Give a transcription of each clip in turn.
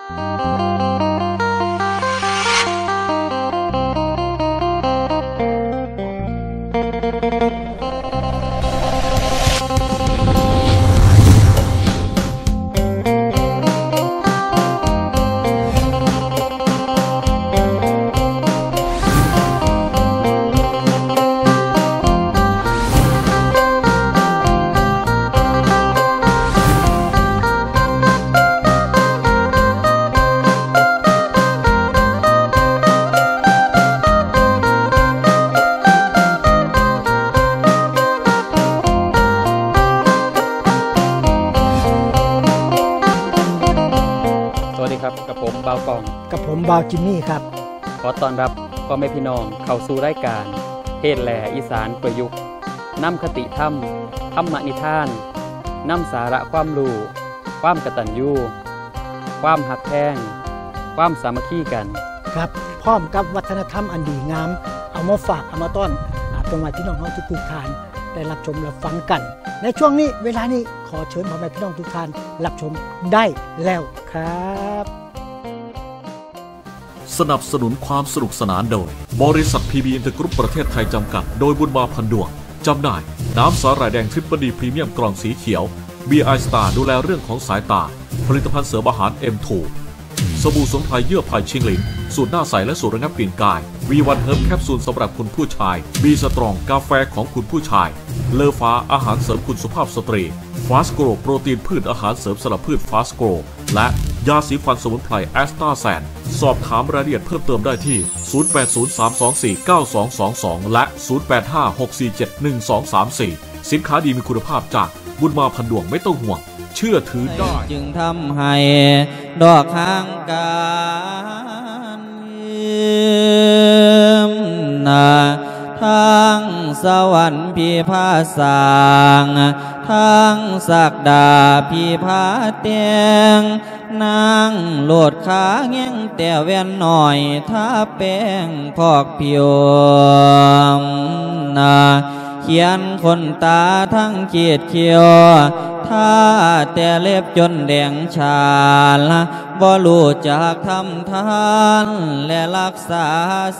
สวัสดีครับ กับผมบ่าวกอง กับผมบ่าวจิมมี่ครับ ขอต้อนรับพ่อแม่พี่น้องเข้าสู่รายการเทศน์แหล่อีสานประยุกต์ นำคติธรรม ธรรมนิทาน นำสาระความรู้ ความกตัญญู ความฮักแพง ความสามัคคีกัน ครับ พร้อมกับวัฒนธรรมอันดีงาม เอามาฝาก เอามาต้อน อ่า พ่อแม่พี่น้องเฮาทุกๆท่านได้รับชมรับฟังกัน ในช่วงนี้ เวลานี้ ขอเชิญพ่อแม่พี่น้องทุกท่านรับชมได้แล้วครับ สนับสนุนความสนุกสนานโดย บริษัท พี บี อินเตอร์กรุ๊ป ประเทศไทย จำกัด โดยบุญมา พันดวง จำหน่าย น้ำสาหร่ายแดง ทริปเปิลดี พรีเมียม กล่องสีเขียว บี ไอ สตาร์ ดูแลเรื่องของสายตา ผลิตภัณฑ์เสริมอาหาร เอ็ม ทู สบู่สมุนไพรเยื่อไผ่ชิงหลิน สูตรหน้าใสและสูตรระงับกลิ่นกาย วี วัน เฮิร์บ แคปซูลสำหรับคุณผู้ชาย บี สตรอง กาแฟของคุณผู้ชาย เลอฟ้า อาหารเสริมคุณสุภาพสตรี ฟาสโกร โปรตีนพืช อาหารเสริมสำหรับพืช ฟาสโกร และยาสีฟันสมุนไพร แอสตาแซน สอบถามรายละเอียดเพิ่มเติมได้ที่ ศูนย์แปดศูนย์ สามสองสี่ เก้าสองสองสอง และ ศูนย์แปดห้า หกสี่เจ็ด หนึ่งสองสามสี่ สินค้าดีมีคุณภาพจากบุญมา พันดวง ไม่ต้องห่วง เชื่อถือได้ จึงทำให้ดอกหางกาน ทางสวรรค์พิพาสร้าง ทางศักดาพิพาแต่ง นางโลดขาแงงแต่แว่นน้อย ทาแป้งพอกผิว เขียนขนตาทั้งขีดคิ้ว ทาแต่เล็บจนแดงฉาน บ่รู้จักทำทาน และรักษา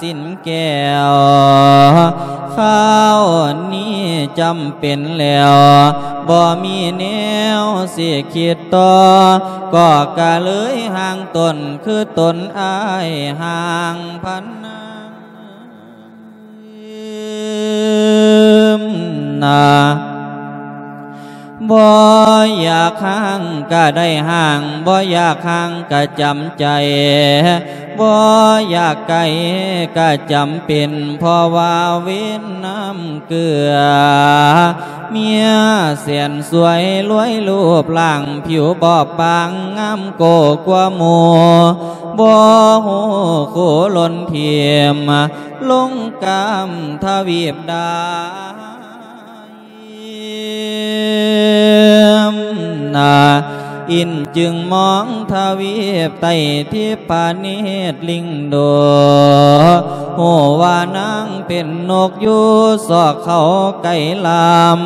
ศีลแก้ว คราวนี้จำเป็นแล้ว บ่มีแนวสิคิดต่อ ก็กะเลยห่างตนคือตนอ้ายห่างพันนาง นา บ่อยากห่างกะได้ห่าง บ่อยากห่างกะจำใจ บ่อยากไกลกะจำเป็น เพราะว่าเวรนำเกื้อ เมียแสนสวยรวยรูปร่างผิวบอบบางงามโก้กว่าหมู่ บ่ฮู้คู่หล่นถิ่ม ลงกามทวีปใด นา อินจึงมองทวีปไต้ทิพเนตรลิงโด ฮู้ว่านางเป็นนกอยู่ซอกเขาไก่ลาม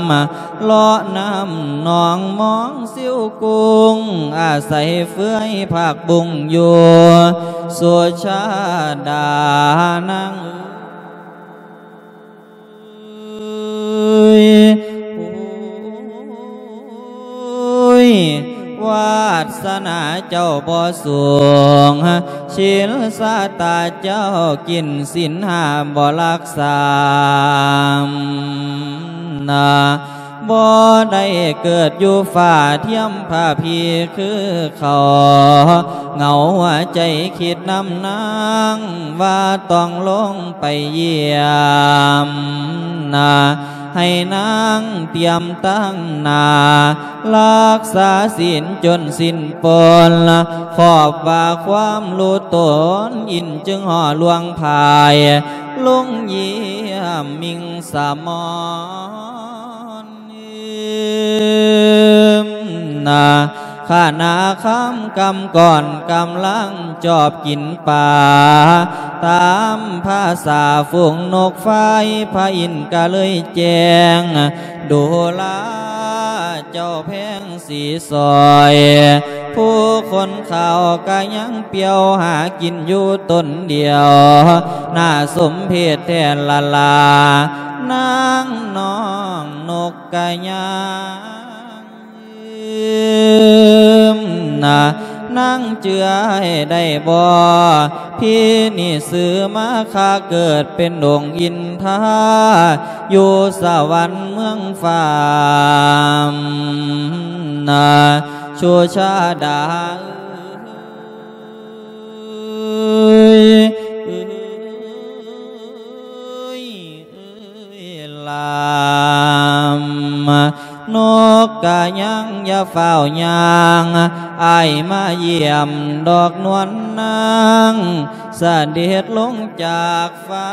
เลาะน้ำหนองมองซิวกุ้ง อาศัยเฟื่อยผักบุ้งอยู่ สุชาดานางเอ๋ย โอ้ย วาสนาเจ้าบ่สูง ศีลสาตาเจ้ากินศีลห้าบ่รักษา นา บ่ได้เกิดอยู่ฟ้าเทียมพระพีคือเขา เหงาหัวใจคิดนำนาง ว่าต้องลงไปเยี่ยม นา ให้นางเตรียมตั้งหน้า รักษาศีลจนสิ้นปน ขอบว่าความรู้ตน อินจึงห่อลวงพาย ลงเยี่ยมมิงสมร นา ขณะค่ำกำก่อนกำลังจอบกินปลา ตามภาษาฝูงนกไฟ พระอินทร์ก็เลยแจ้ง ดูราเจ้าแพงสีสอย ຜູ້ຄົນເຂົາກະຍັງປ່ຽວຫາກິນຢູ່ຕົນດຽວ ໜ້າສົມເພດແທ້ລະລາ ນາງນ້ອງນົກກະຍາງ. ນາງເຈື່ອຍໄດ້ບໍ່? ພີ່ນີ້ຊື່ມາຄະ ເກີດເປັນອົງອິນທາ ຢູ່ສະຫວັນເມືອງຟ້າ ນາງສຸຊາດາເອີຍ ເອີຍ ເອີຍ ລາ ນົກກະຍາງຢ່າຟ້າວຍ່າງ ອ້າຍມາຢ້ຽມດອກນວນນາງ ສະເດັດລົງຈາກຟ້າ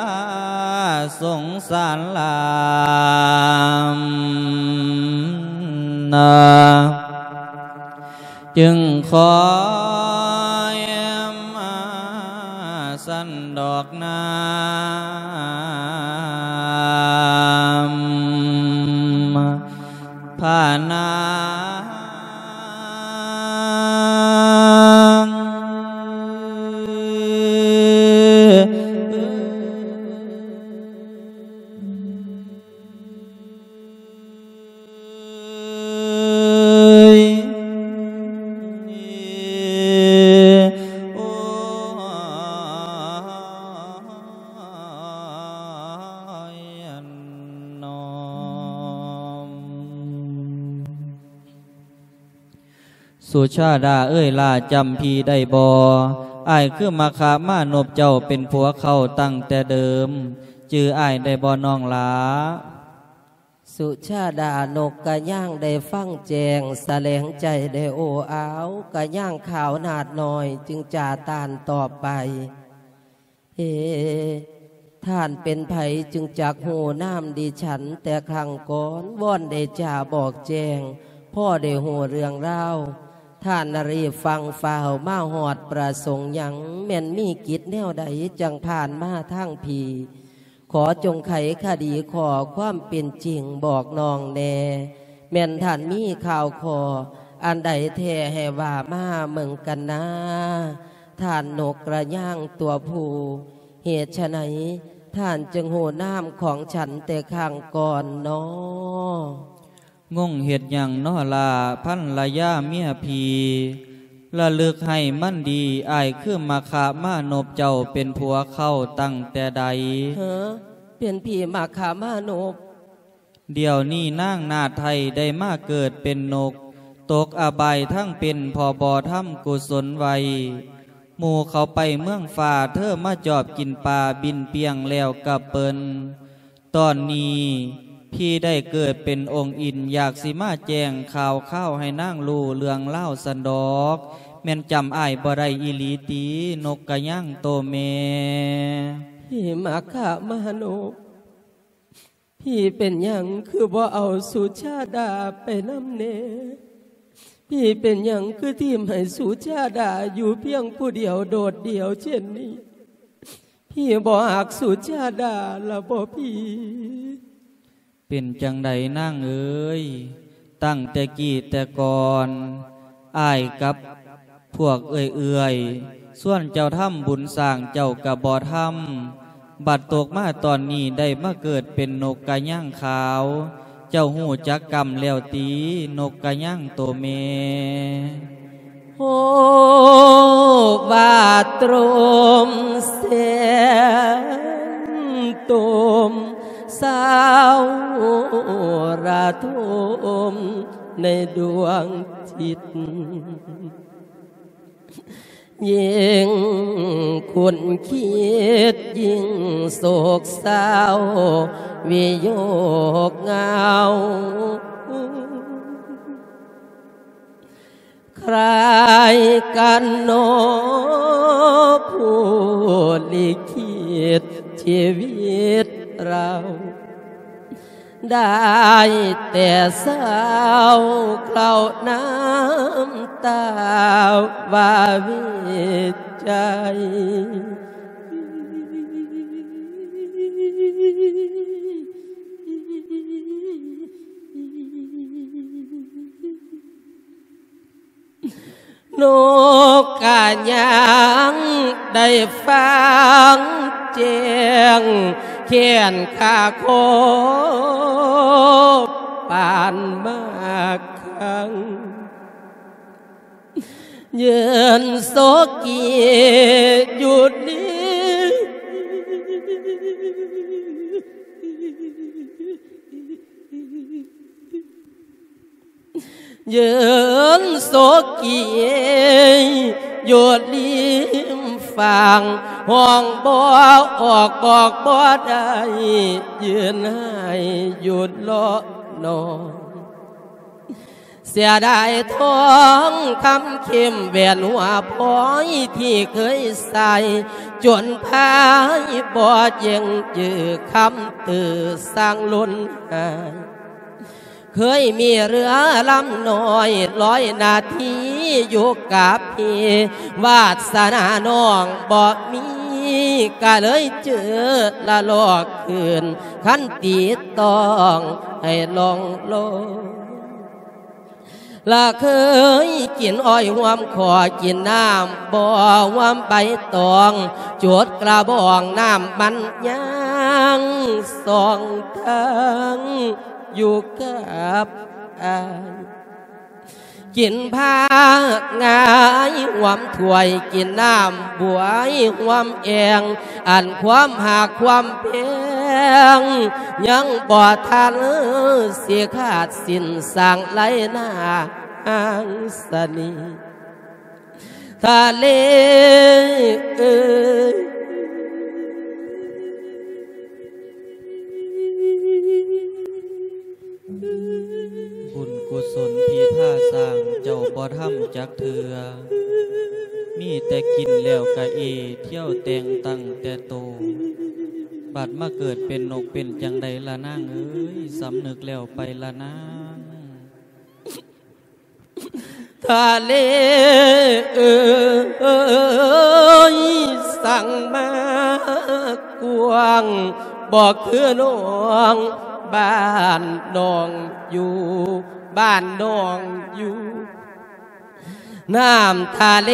ສົງສານຫຼາຍ ນາ ຈຶ່ງຄອຍມາຊັ້ນດອກນາ ພະນາງ ເອີຍ ໂອ້ຍ ນ້ອງ ສຸຊາດາເອີຍ ຫຼ້າຈຳພີ່ໄດ້ບໍ່? ອ້າຍຄືມະຄະມານົບເຈົ້າເປັນຜົວເຂົາຕັ້ງແຕ່ເດີມ ຈື່ອ້າຍໄດ້ບໍ່ນ້ອງຫຼ້າ? ສຸຊາດານົກກະຍາງໄດ້ຟັງແຈ້ງ ສະແຫຼງໃຈໄດ້ໂອ້ອາວ ກະຍາງຂາວໜາດໜ້ອຍຈຶ່ງຈາຕານຕອບໄປ ເອ ທ່ານເປັນໃຜຈຶ່ງຈັກຮູ້ນາມດິສັນແຕ່ຄັ້ງກ່ອນ? ວອນໄດ້ຈາບອກແຈ້ງ ພໍໄດ້ຮູ້ເລື່ອງລາວ ທ່ານນະຣີຟັ່ງຟ້າວມາຮອດປະສົງຫຍັງ? ແມ່ນມີກິດແນວໃດຈັ່ງຜ່ານມາທາງພີ້? ຂໍຈົ່ງໄຂຄະດີຂໍ້ຄວາມເປັນຈິງບອກນ້ອງແດ່ ແມ່ນທ່ານມີຂ່າວຂໍ້ອັນໃດແທ້ໃຫ້ວ່າມາເບິ່ງກັນນາ ທ່ານນົກກະຍາງຕົວຜູ້ ເຫດສະໃດທ່ານຈຶ່ງຮູ້ນາມຂອງສັນແຕ່ຄັ້ງກ່ອນນໍ? ງົງເຮັດຫຍັງນໍລະພັນລະຍາເມຍພີ່? ລະລຶກໃຫ້ມັນດີ ອ້າຍຄືມະຄະມານົບເຈົ້າເປັນຜົວເຂົາຕັ້ງແຕ່ໃດ? ເຮີ ເປັນຜີມະຄະມານົບ? ດຽວນີ້ນາງນາໄທໄດ້ມາເກີດເປັນນົກ ຕົກອະບາຍທັງເປັນ ເພາະບໍ່ທຳກຸສົນໄວ້ ໝູ່ເຂົາໄປເມືອງຟ້າ ເທີມາຈອບກິນປາ ບິນປ່ຽງແລ້ວກັບເປີນ. ຕອນນີ້ພີ່ໄດ້ເກີດເປັນອົງອິນ ຢາກຊິມາແຈ້ງຂ່າວຄາວໃຫ້ນາງຮູ້ເລື່ອງລາວຊັ້ນດອກ. ແມ່ນຈຳອ້າຍບໍ່ໄດ້ອີ່ຫຼີຕິ ນົກກະຍາງໂຕແມ່? ພີ່ມະຄະມານົບ ພີ່ເປັນຫຍັງຄືບໍ່ເອົາສຸຊາດາໄປນຳແດ່? ພີ່ເປັນຫຍັງຄືຖິ້ມໃຫ້ສຸຊາດາຢູ່ພຽງຜູ້ດຽວໂດດດ່ຽວເຊັ່ນນີ້? ພີ່ບໍ່ຮັກສຸຊາດາລະບໍ່ພີ່? ເປັນຈັ່ງໃດນາງເອີຍ? ຕັ້ງແຕ່ກີ້ແຕ່ກ່ອນ ອ້າຍກັບພວກເອື້ອຍໆ ຊວນເຈົ້າທຳບຸນສ້າງເຈົ້າກະບໍ່ທຳ ບັດຕົກມາຕອນນີ້ໄດ້ມາເກີດເປັນນົກກະຍາງຂາວ ເຈົ້າຮູ້ຈັກກຳແລ້ວຕິ ນົກກະຍາງໂຕແມ່? ໂຮບາດໂຕມແສງໂຕມ ສາວລະທົມໃນດວງຈິດ ຍິ່ງຄຸນຄິດຍິ່ງໂສກເສົ້າວິໂຍກເຫງົາ. ໃຄກັນໜໍຜູ້ລິຂິດຊີວິດເຮົາ ໄດ້ແຕ່ເສົ້າເຄົ້ານ້ຳຕາວາເວໃຈ. ເ ນົກກະຍັງໄດ້ຟັງແຈ້ງ ແຄ້ນຄາຄໍປານມາຄັງ ຢືນໂສກີຢູ່ນີ້ ຢືນໂສກີຢູ່ລິມຝັ່ງ ຮ້ອງບໍ່ອອກບອກບໍ່ໄດ້ ຢືນໄຫ້ຢູ່ເລາະໜອງ ເສຍດາຍທອງຄຳເຂັ້ມແຫວນຫົວພ້ອຍທີ່ເຄີຍໃສ່ ຈົນພາຍບໍ່ເຢັງຈື່ຄຳຕື້ສ້າງລຸນຫາຍ ເຄີຍມີເຮືອລຳນ້ອຍລອຍໜ້າທີ່ຢູ່ກັບເພ ວາດສະໜານ້ອງບໍ່ມີ ກະເລີຍເຈີລະລອກຄືນ ຄັນຕີຕ້ອງໃຫ້ລ່ອງລອຍ ລະເຄີຍກິນອ້ອຍຮ່ວມຂໍ ກິນນ້ຳບໍ່ຮ່ວມໃບຕອງ ຈຸດກະບອງນ້ຳມັນຍັງສອງທາງ ຢູ່ກັບອ້າຍ ກິນພາກງາຍຮ່ວມຖ້ວຍ ກິນນ້ຳບວຍຮ່ວມແອ່ງ ອັນຄວາມຮັກຄວາມແພງ ຍັງບໍ່ທັນຊິຂາດສິ້ນ ສ້າງໄລນາງສະເໜ່ຫ ທະເລເອີຍ ບຸນກຸສົນທີ່ພາສ້າງເຈົ້າບໍ່ທຳຈັກເທື່ອ ມີແຕ່ກິນແລ້ວກະເອ ທ່ຽວແຕ່ງຕັ້ງແຕ່ໂຕ ບັດມາເກີດເປັນນົກເປັນຈັ່ງໃດລະນາງເອີຍ ສຳນຶກແລ້ວໄປລະນາງ. ທະເລເອີຍ ສັງມາກວ້າງ ບໍ່ຄືໜອງ ບ້ານໜອງຢູ່ ບ້ານໜອງຢູ່ ນ້ຳທະເລ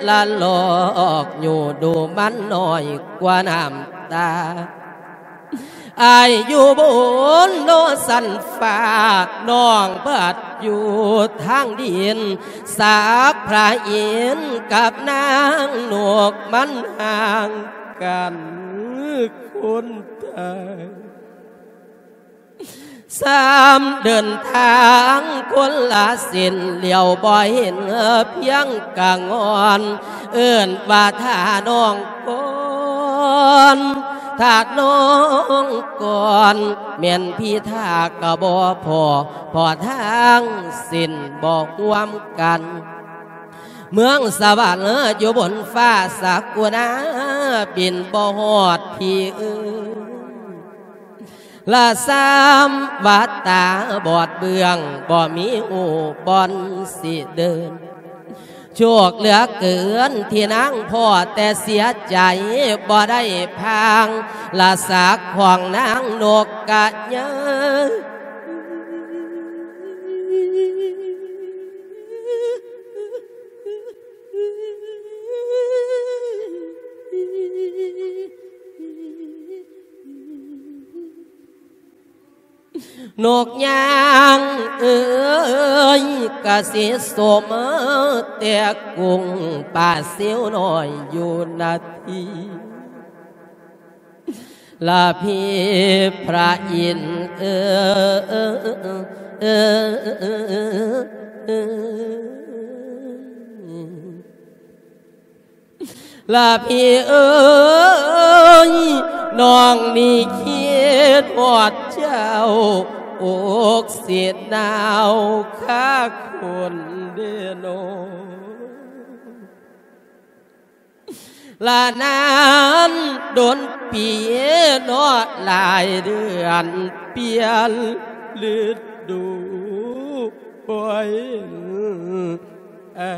ລະລອກຢູ່ ດູມັນນ້ອຍກວ່ານ້ຳຕາ. ອ້າຍຢູ່ບົນນອກຊັ້ນຟ້າ ນ້ອງເບິດຢູ່ທາງດິນ ສັບພະອິນກັບນາງນົກມັນຫ່າງກັນຄົນຕາຍ ສາມເດີນທາງຄົນລະເສັ້ນ ຫຼຽວບໍ່ເຫັນພຽງກະງອນ ເອີ້ນວ່າຖ້ານ້ອງກ່ອນ ຖ້ານ້ອງກ່ອນ ແມ່ນພີ້ຖ້າກະບໍ່ພໍ້ ພໍ້ທາງເສັ້ນບໍ່ຮ່ວມກັນ ເມືອງສະຫວັນຢູ່ບົນຟ້າ ສັກກຸນາບິນບໍ່ຮອດ ພີ້ເອີຍ ລະສາມວ່າຕາບອດເບື້ອງ ບໍ່ມີຫູ່ບ່ອນຊິເດີນ ໂຊກເຫຼືອເກີນທີ່ນາງພໍ້ ແຕ່ເສຍໃຈບໍ່ໄດ້ພາງ ລະສັກຂອງນາງນົກກະຍາ ນົກຍາງເອີຍ ກະຊິສົມແຕ່ກຸ້ງປາຊິວນ້ອຍຢູ່ນະທີ ລະພີພະອິນເອີຍ ລະພີເອີຍ ນ້ອງນີ້ຄິດຮອດເຈົ້າ ອົກຊິໜາວຄາຄົນເດໂນ ລະນານດົນປີເນາະ ຫຼາຍເດືອນປ່ຽນລະດູ ໂອຍ ເອີ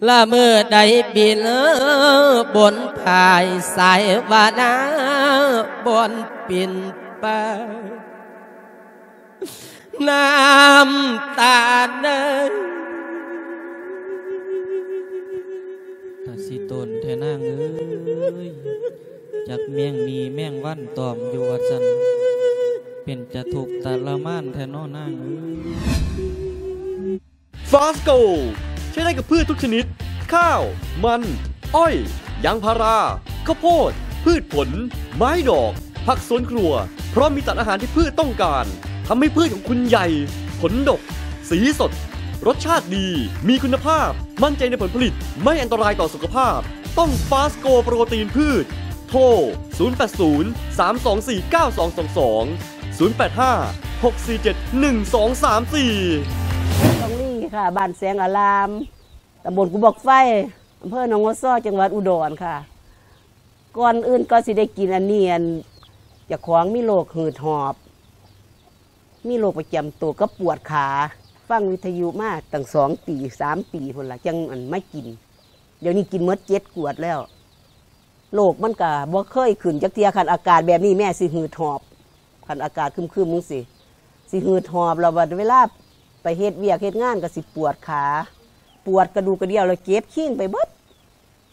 ລະມື້ໃດບິນບົນພາຍ ສາຍວານາບ່ອນປິ່ນໄປ ນ້ຳຕາເອີຍ ກະຊິຕົນແທ້ນາງເອີຍ ຈັກແມງໝີ່ແມງວັນຕອມຢູ່ວ່າຊັ້ນ ເປັນຕາທຸກຕະລະມານແທ້ເນາະນາງເອີຍ. ຟາສໂກ ໃຊ້ໄດ້ກັບພືດທຸກຊະນິດ ຂ້າວ, ມັນ, ອ້ອຍ, ຢາງພາລາ, ເຂົ້າໂພດ, ພືດຜົນ, ໄມ້ດອກ, ຜັກສວນຄົວ ເພາະມີສານອາຫານທີ່ພືດຕ້ອງການ ທຳໃຫ້ພືດຂອງຄຸນໃຫຍ່, ຜົນດົກ, ສີສົດ, ລົດຊາດດີ, ມີຄຸນນະພາບ, ໝັ້ນໃຈໃນຜົນຜະລິດ, ໄມ່ອັນຕະລາຍຕໍ່ສຸຂະພາບ. ຕ້ອງຟາສໂກໂປຣຕີນພືດ. ໂທ ສູນແປດສູນ ສາມສອງສີ່ ເກົ້າສອງສອງສອງ ສູນແປດຫ້າ ຫົກສີ່ເຈັດ ໜຶ່ງສອງສາມສີ່. ຕ້ອງລີ ຄ່ະ ບ້ານແສງອາລາມ ຕຳບົນພູບັກໄຟ ອຳເພີໜອງຫົວຊໍ ຈັງຫວັດອຸດອນຄ່ະ. ກ່ອນອື່ນກໍຊິໄດ້ກິນອັນນີ້ ອັນ ເຈົ້າຂອງມີໂລກຫືດຫອບ ມີໂລກປະຈຳໂຕກັບປວດຂາ ຟັງວິທະຍຸມາຕັ້ງສອງປີ ສາມປີພຸ້ນລະ ຈັ່ງ ອັນ ມາກິນ. ດຽວນີ້ກິນໝົດເຈັດຂວດແລ້ວ. ໂລກມັນກະບໍ່ເຄີຍຂຶ້ນຈັກເທື່ອ ຄັນອາກາດແບບນີ້ແມ່ຊິຫືດຫອບ ຄັນອາກາດຄຶມໆຈັ່ງຊີ້ ຊິຫືດຫອບ ແລ້ວບັດເວລາໄປເຮັດວຽກເຮັດງານກະຊິປວດຂາ ປວດກະດູກກະດຽວ ແລ້ວເຈັບຄີງໄປເບິດ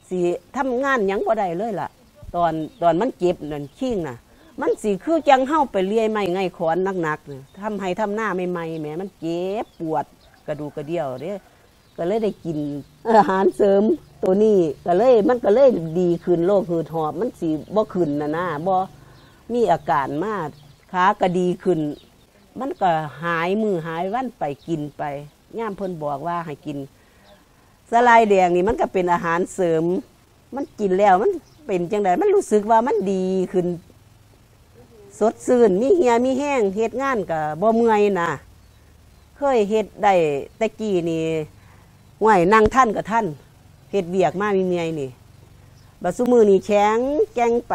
ຊິທຳງານຫຍັງບໍ່ໄດ້ເລີຍລະ. ຕອນ ຕອນມັນເຈັບນັ້ນຄີງນະ ມັນຊິຄືຈັ່ງເຮົາໄປເລື່ອຍໄມ້ໄງຂອນໜັກໆ ທຳໄຮ່ທຳນາໃໝ່ໆແໝ ມັນເຈັບປວດກະດູກກະດຽວເດ້. ກໍເລີຍໄດ້ກິນອາຫານເສີມໂຕນີ້ ກໍເລີຍ ມັນກໍເລີຍດີຂຶ້ນ ໂລກຫືດຫອບມັນຊິບໍ່ຂຶ້ນນະນາ ບໍ່ມີອາການມາ ຂາກໍດີຂຶ້ນ ມັນກໍຫາຍມື້ຫາຍວັນໄປ ກິນໄປ ຍາມເພິ່ນບອກວ່າໃຫ້ກິນສາຫຼ່າຍແດງນີ້ ມັນກໍເປັນອາຫານເສີມ. ມັນກິນແລ້ວມັນເປັນຈັ່ງໃດ? ມັນຮູ້ສຶກວ່າມັນດີຂຶ້ນ ສົດຊື່ນ ມີເຫື່ອມີແຮງ ເຮັດງານກໍບໍ່ເມື່ອຍນະ. ເຄີຍເຮັດໄດ້ແຕ່ກີ້ນີ້ ຫ້ວຍ ນັ່ງທັນກໍທັນ ເຮັດວຽກມາເມື່ອຍໆນີ້ ບັດຊຸມື້ນີ້ແຂງແກ່ງໄປ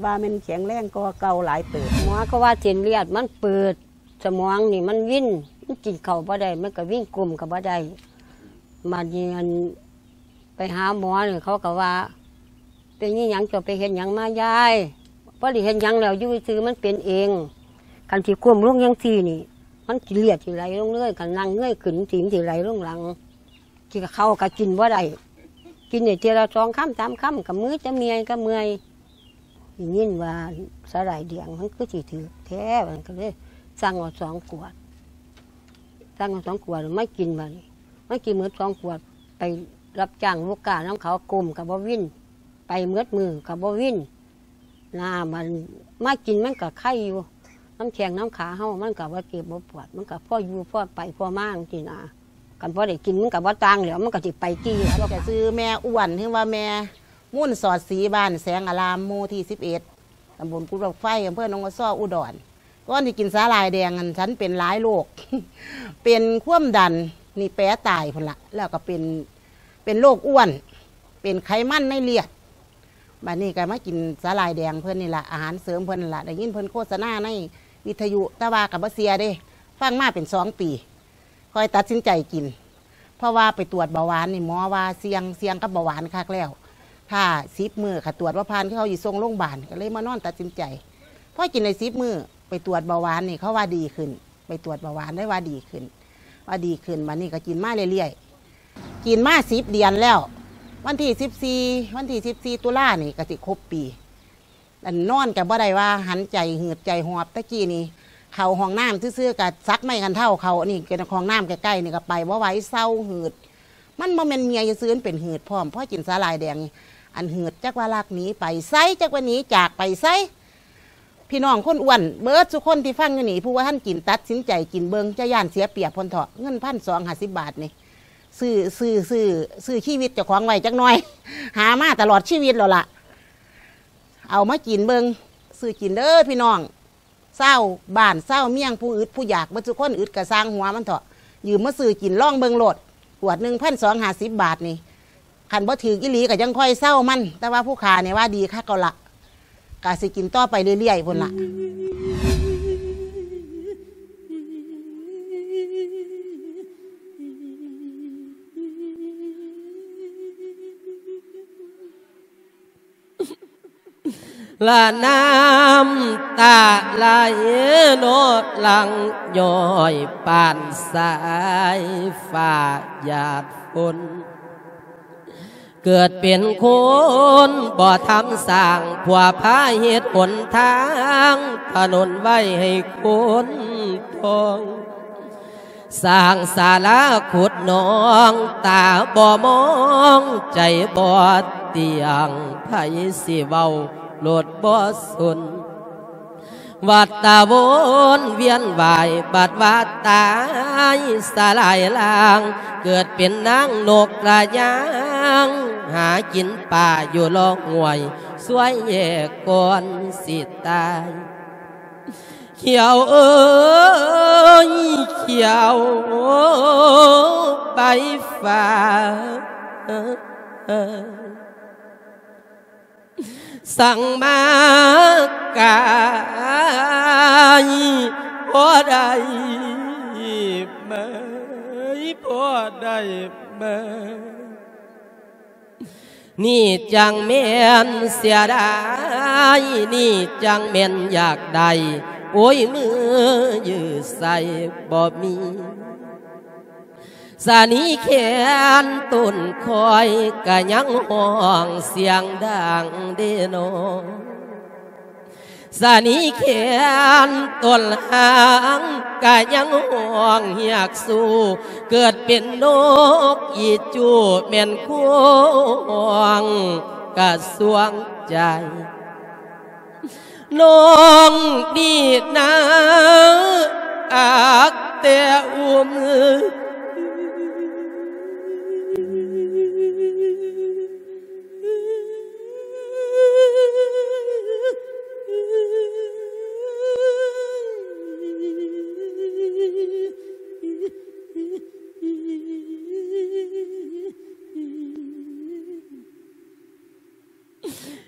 ວ່າແມ່ນແຂງແຮງກວ່າເກົ່າຫຼາຍເຕີບ. ໝໍເຂົາວ່າເສັ້ນເລືອດມັນເປີດ ສະໝອງນີ້ມັນວິນ ມັນກິນເຂົ້າບໍ່ໄດ້ ມັນກໍວິນ ກົ້ມກໍບໍ່ໄດ້. ບາດນີ້ ອັນ ໄປຫາໝໍນີ້ ເຂົາກໍວ່າ ເປັນອີ່ຫຍັງ ເຈົ້າໄປເຮັດຫຍັງມາຍາຍ? ບໍ່ໄດ້ເຮັດຫຍັງແລ້ວ ຢູ່ຊື່ມັນເປັນເອງ. ຄັນຊິກົ້ມລົງຈັ່ງຊີ້ນີ້ ມັນຊິເລືອດຊິໄຫຼລົງເລີຍ ຄັນນັ່ງເງີຍຂຶ້ນ ມັນຊິໄຫຼລົງຫຼັງ. ກິນເຂົ້າກໍກິນບໍ່ໄດ້ ກິນໄດ້ເທື່ອລະສອງຄຳສາມຄຳ ກໍເມື່ອຍ ຈະເມື່ອຍ ກໍເມື່ອຍ. ໄດ້ຍິນວ່າສາຫຼ່າຍແດງມັນຄືຊິຖືກແທ້ ມັນກໍເລີຍສັ່ງເອົາສອງຂວດ ສັ່ງເອົາສອງຂວດມາກິນ. ບາດນີ້ມາກິນໝົດສອງຂວດ ໄປຮັບຈ້າງລູກຄ້ານຳເຂົາ ກົ້ມກໍບໍ່ວິນ ໄປໝົດມື້ກໍບໍ່ວິນນະ. ມັນມາກິນມັນກໍໄຄຢູ່ ນຳແຂ້ງນຳຂາເຮົາ ມັນກໍບໍ່ເຈັບບໍ່ປວດ ມັນກໍພໍຢູ່ພໍໄປພໍມາຈັ່ງຊີ້ນະ. ຄັນບໍ່ໄດ້ກິນມັນກໍບໍ່ຕ່າງແລ້ວ ມັນກໍຊິໄປຕິ. ຈະຊື່ແມ່ອ້ວນ ຫຼືວ່າແມ່ມູນສອດສີ ບ້ານແສງອາລາມ ໝູ່ທີສິບເອັດ ຕຳບົນກຸດບັກໄຟ ອຳເພີໜອງຫົວຊໍ ອຸດອນ. ກ່ອນຊິກິນສາຫຼ່າຍແດງນັ້ນ ສັນເປັນຫຼາຍໂລກ ເປັນຄວາມດັນ ນີ້ແປຕາຍພຸ້ນລະ ແລ້ວກໍເປັນ ເປັນໂລກອ້ວນ ເປັນໄຂມັນໃນເລືອດ. ບາດນີ້ກໍມາກິນສາຫຼ່າຍແດງເພິ່ນນີ້ລະ ອາຫານເສີມເພິ່ນນັ້ນລະ ໄດ້ຍິນເພິ່ນໂຄສະນາໃນວິທະຍຸ ແຕ່ວ່າກໍບໍ່ເຊື່ອເດ້ ຟັງມາເປັນສອງປີ ຄ່ອຍຕັດສິນໃຈກິນ ເພາະວ່າໄປຕວດເບົາຫວານນີ້ ໝໍວ່າສ່ຽງ ສ່ຽງກັບເບົາຫວານຄັກແລ້ວ ຖ້າສິບມື້ ຄັນຕວດບໍ່ຜ່ານ ຄືເຂົາຊິສົ່ງໂຮງບານ ກໍເລີຍມານອນຕັດສິນໃຈ. ພໍກິນໄດ້ສິບມື້ ໄປຕວດເບົາຫວານນີ້ ເຂົາວ່າດີຂຶ້ນ ໄປຕວດເບົາຫວານໄດ້ວ່າດີຂຶ້ນ ວ່າດີຂຶ້ນ. ບາດນີ້ກໍກິນມາເລື້ອຍໆ ກິນມາສິບເດືອນແລ້ວ ວັນທີສິບສີ່ ວັນທີສິບສີ່ຕຸລານີ້ກໍຊິຄົບປີ. ອັນນອນກໍບໍ່ໄດ້ວ່າຫັນໃຈຫືດໃຈຫອບ ແຕ່ກີ້ນີ້ເຂົ້າຫ້ອງນ້ຳຊື່ໆ ກໍສັກໄມ້ກັນເທົ້າເຂົ້າ ອັນນີ້ກໍຫ້ອງນ້ຳໃກ້ໆນີ້ກໍໄປບໍ່ໄຫວ ເຊົາຫືດ. ມັນບໍ່ແມ່ນເມື່ອຍຊື່ໆ ມັນເປັນຫືດພ້ອມ. ພໍກິນສາຫຼ່າຍແດງນີ້ ອັນຫືດຈັກວ່າລັກໜີໄປໃສ ຈັກວ່າໜີຈາກໄປໃສ. ພີ່ນ້ອງຄົນອ້ວນເບິດສູ່ຄົນທີ່ຟັງຢູ່ນີ້ ຜູ້ບໍ່ທັນກິນ ຕັດສິນໃຈກິນເບິ່ງ ຈະຢ້ານເສຍປຽບພຸ້ນເຖາະ. ເງິນພັນສອງຫ້າສິບບາດນີ້ ຊື້ ຊື້ ຊື້ ຊື້ຊີວິດເຈົ້າຂອງໄວ້ຈັກໜ່ອຍ ຫາມາຕະຫຼອດຊີວິດແລ້ວລະ. ເອົາມາກິນເບິ່ງ ຊື້ກິນເດີພີ່ນ້ອງ ຊາວບ້ານຊາວເມືອງ ຜູ້ອຶດຜູ້ຢາກເບິດສູ່ຄົນ. ອຶດກໍຊ່າງຫົວມັນເຖາະ ຢືມມາຊື້ກິນລອງເບິ່ງໂລດ. ຂວດໜຶ່ງ ພັນສອງຫ້າສິບບາດນີ້ ຄັນບໍ່ຖືກອີ່ຫຼີກໍຈັ່ງຄ່ອຍເຊົາມັນ ແຕ່ວ່າຜູ້ຂ້ານີ້ວ່າດີຄັກແລ້ວລະ ກະຊິກິນຕໍ່ໄປເລື້ອຍໆພຸ້ນລະ. ເ ລະນ້ຳຕາໄຫຼໂນດຫຼັ່ງຍ້ອຍປານສາຍຟ້າຫຍາດຝົນ. ເກີດເປັນຄົນບໍ່ທຳສ້າງ ພວກພາເຮັດຫົນທາງ ຖະໜົນໄວ້ໃຫ້ຄົນທ່ອງ. ສ້າງສາລາຂຸດໜອງ ຕາບໍ່ມອງ ໃຈບໍ່ຕຽງ ໃຜຊິເວົ້າໂລດບໍ່ສົນ. ວັດຕະວົນວຽນວາຍ ບັດວ່າຕາຍສະຫຼາຍລາງ ເກີດເປັນນາງນົກກະຍາງ ຫາກິນປ່າຢູ່ລອກຫ້ວຍ ຊ່ວຍແຍກກ່ອນຊິຕາຍ. ຂຽວເອີຍ ຂຽວໃບຟ້າ ສັ່ງມາກາຍ ພໍໄດ້ໄໝ ພໍໄດ້ໄໝ? ນີ້ຈັ່ງແມ່ນເສຍດາຍ ນີ້ຈັ່ງແມ່ນຢາກໄດ້ ໂອ້ຍ ມືຢື້ໃສ່ບໍ່ມີ. ສະນີແຂນຕົ້ນຄອຍ ກະຍັງຮ້ອງສຽງດັງເດນໍ. ສະນີແຂນຕົ້ນຫາງ ກະຍັງຮ້ອງຮຽກສູ່ ເກີດເປັນນົກອີຈູ່ ແມ່ນຄວາມກະຊວງໃຈ. ນ້ອງນີ້ນາ ອັກແຕ່ອຸ້ມ.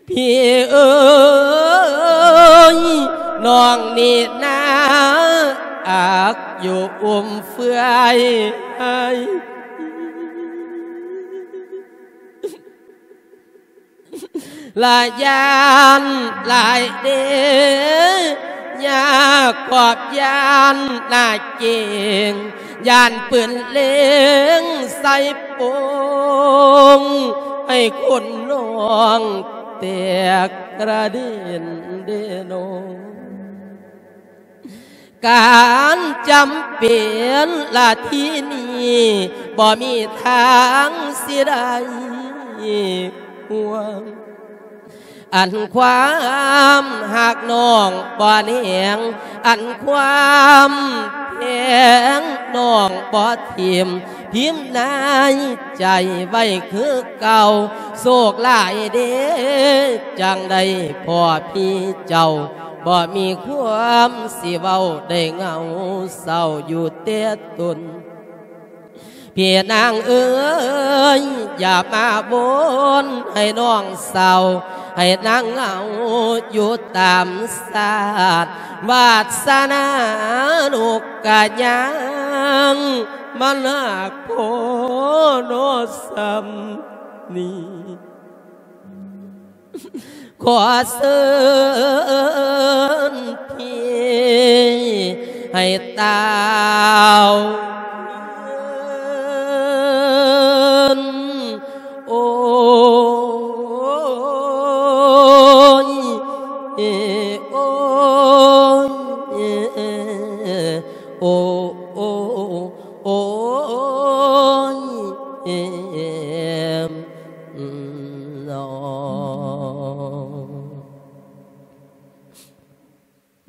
ພີ່ເອີຍ ນ້ອງນີ້ນາ ອັກຢູ່ອຸ້ມເຟືອຍ ລະຢ້ານຫຼາຍເດ ຍາກອບຢ້ານໜ້າເກງ ຢ້ານປືນເລັງໃສ່ໂປ່ງ ໃຫ້ຄົນນ້ອງແຕກກະເດັນເດນໍ. ການຈຳເປັນລະທີນີ້ ບໍ່ມີທາງຊິໄດ້ຫ່ວງ ອັນຄວາມຮັກນ້ອງບໍ່ແໜງ ອັນຄວາມແພງນ້ອງບໍ່ຖິ້ມ ພິມໃນໃຈໄວ້ຄືເກົ່າ. ໂຊກຫຼາຍເດ ຈັ່ງໄດ້ພໍ້ພີ່ເຈົ້າ ບໍ່ມີຄວາມຊິເວົ້າ ໄດ້ເຫງົາເສົ້າຢູ່ແຕ່ຕົນ. ພີ່ນາງເອີຍ ຢ່າມາວົນໃຫ້ນ້ອງເສົ້າ ໃຫ້ນາງເຫງົາຢູ່ຕາມຊາດ ວາດສະໜານົກກະຍາງ ມັນຫາກພໍເນາະສ່ຳນີ້. ຂໍເຊີນພີ່ໃຫ້ຕ່າວເອີ້ນ ໂອ້ຍ ໂອ້ຍ ໂອ້ ໂອ້ ໂອ້ຍ ເອັມ ເນາ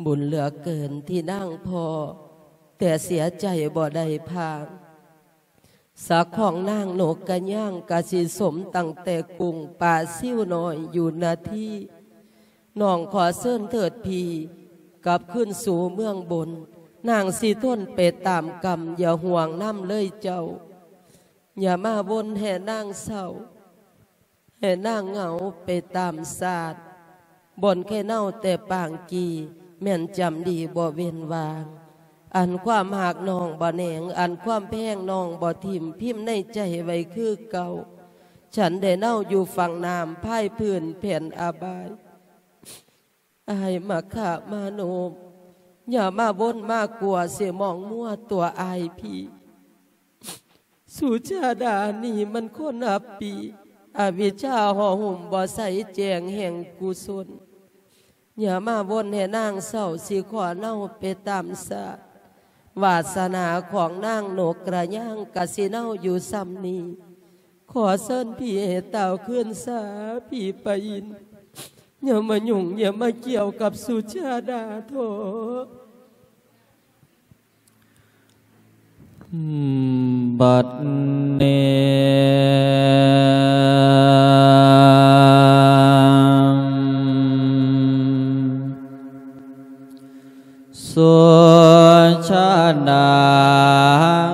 ະ. ບຸນເຫຼືອເກີນທີ່ນາງພໍ້ ແຕ່ເສຍໃຈບໍ່ໄດ້ພາງ. ສັກຂອງນາງນົກກະຍາງກະຊິສົມຕັ້ງແຕ່ກຸ້ງປາຊິວນ້ອຍຢູ່ນາທີ. ນ້ອງຂໍເຊີນເທີດພີ່ກັບຄືນສູ່ເມືອງບົນ. ນາງຊິທົນໄປຕາມກຳ ຢ່າຫ່ວງນຳເລີຍເຈົ້າ. ຢ່າມາວົນໃຫ້ນາງເສົ້າ ໃຫ້ນາງເຫງົາໄປຕາມຊາດ. ບ່ອນແຄເນົາແຕ່ປາງກີ້ ແມ່ນຈຳດີບໍ່ເວັ້ນວ່າງ. ອັນຄວາມຮັກນ້ອງບໍ່ແໜງ ອັນຄວາມແພງນ້ອງບໍ່ຖິ້ມ ພິມໃນໃຈໄວ້ຄືເກົ່າ. ສັນໄດ້ເນົາຢູ່ຝັ່ງນ້ຳ ພາຍພື້ນແຜ່ນອາບາຍ. ອ້າຍມະຄະມະໂນ ຢ່າມາວົນມາກົວເສຍໝອງມົວຕົວອ້າຍພີ່. ສຸຊາດານີ້ມັນຄົນອັບປີ ອະວິດຊາຫໍ່ຫຸ້ມບໍ່ໃສແຈ້ງແຫ່ງກຸສົນ. ຢ່າມາວົນໃຫ້ນາງເສົ້າ ຊິຂໍເນົາໄປຕາມຊາດ. ວາສະໜາຂອງນາງນົກກະຍາງກະຊິເນົາຢູ່ຊ່ຳນີ້. ຂໍເຊີນພີ່ໃຫ້ຕ່າວຄືນສາ ພີ່ປະອິນ. ຢ່າມາຫຍຸ້ງ ຢ່າມາກ່ຽວກັບສຸຊາດາເຖາະ. ບັດນີ້ ສຸຊາດາ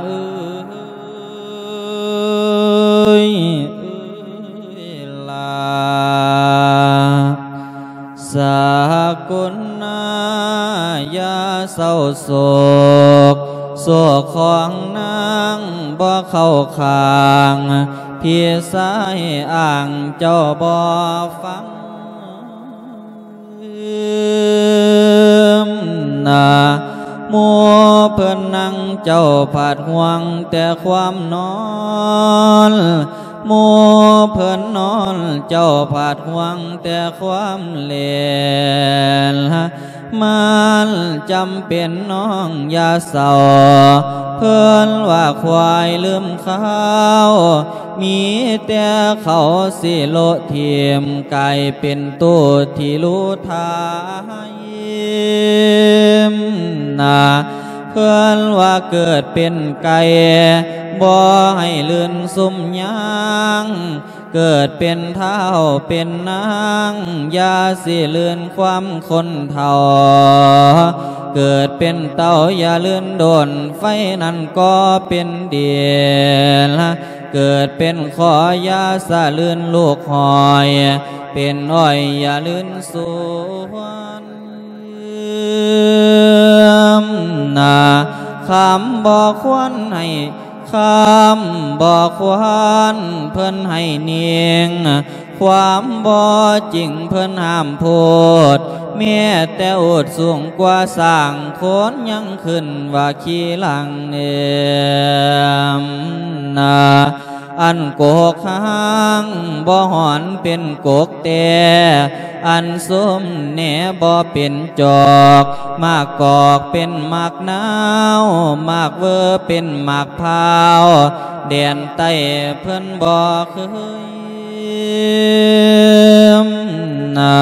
ເອີຍ ເອີຍລາ ສາກຸນນາ ຢ່າເສົ້າໂສກ ໂສກຂອງນາງບໍ່ເຂົ້າຂ້າງ ພີ່ຊາຍອ້າງເຈົ້າບໍ່ຟັງ. ນາ ໝູ່ເພິ່ນນັ່ງເຈົ້າພັດຫ່ວງແຕ່ຄວາມນອນ ໝູ່ເພິ່ນນອນເຈົ້າພັດຫ່ວງແຕ່ຄວາມເຫຼັນ ມັນຈຳເປັນນ້ອງຢ່າເສົ້າ ເພິ່ນວ່າຄວາຍລືມຄາວ ມີແຕ່ເຂົາຊິໂລະຖິ້ມ ກາຍເປັນໂຕທີ່ລູທາຍ ນາ ເພິ່ນວ່າເກີດເປັນໄກ່ ບໍ່ໃຫ້ລື່ນຊຸມຍາງ ເກີດເປັນທ້າວເປັນນາງ ຢ່າຊິລື່ນຄວາມຄົນເຖົ້າ ເກີດເປັນເຕົ້າຢ່າລື່ນໂດນ ໄຟນັ້ນກໍເປັນດິນ ເກີດເປັນຄໍຢ່າສະລື່ນລູກຫອຍ ເປັນອ້ອຍຢ່າລື່ນສວນ ນາ ຄຳບໍ່ຄວນໃຫ້ ຄຳບໍ່ຄວນເພິ່ນໃຫ້ນິ່ງ ຄວາມບໍ່ຈິງເພິ່ນຫ້າມໂພດ ແມ້ແຕ່ອູດສູງກວ່າຊ້າງ ຄົນຍັງຂຶ້ນວ່າຂີ້ຫຼັງເອີມ ນາ ອັນກົກຮ້າງບໍ່ຮ້ອນເປັນກົກແຕ່ ອັນຊຸມແໜບໍ່ເປັນຈອກ ໝາກກອກເປັນໝາກນາວ ໝາກເວີເປັນໝາກພ້າວ ແດນໃຕ້ເພິ່ນບໍ່ເຄີຍ ນາ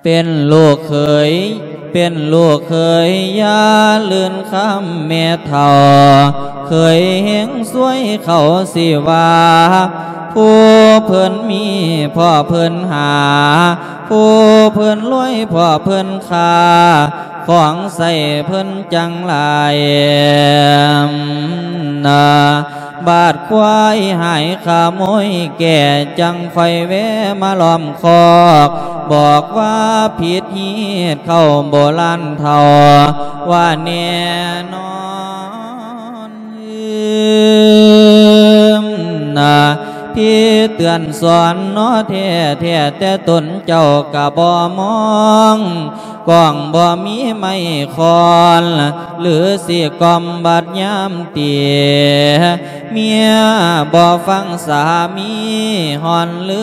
ເປັນລູກເຂີຍ ເປັນລູກເຂີຍຢ່າລື່ນຄຳແມ່ເຖົ້າ ເຂີຍເຮັງຊວຍເຂົາຊິວ່າ ຜູ້ເພິ່ນມີພໍ່ເພິ່ນຫາ ຜູ້ເພິ່ນລວຍພໍ່ເພິ່ນຄ້າ ຂອງໃຊ້ເພິ່ນຈັ່ງຫຼາຍ ນາ ບາດຄວາຍຫາຍຂະໂມຍແກ່ ຈັ່ງຄ່ອຍແວະມາລ້ອມຄອກ ບອກວ່າຜິດຮີດເຂົ້າໂບລານເຖົ້າ ວ່າແນ່ນອນ ນາ ທີ່ເຕືອນສອນເນາະແທ້ໆ ແຕ່ຕົນເຈົ້າກະບໍ່ມອງ ກ້ອງບໍ່ມີໄມ້ຄ້ອນ ຫຼືຊິກ່ອມບັດຍາມເຕຍ ເມຍບໍ່ຟັງສາມີ ຮ້ອນຫຼື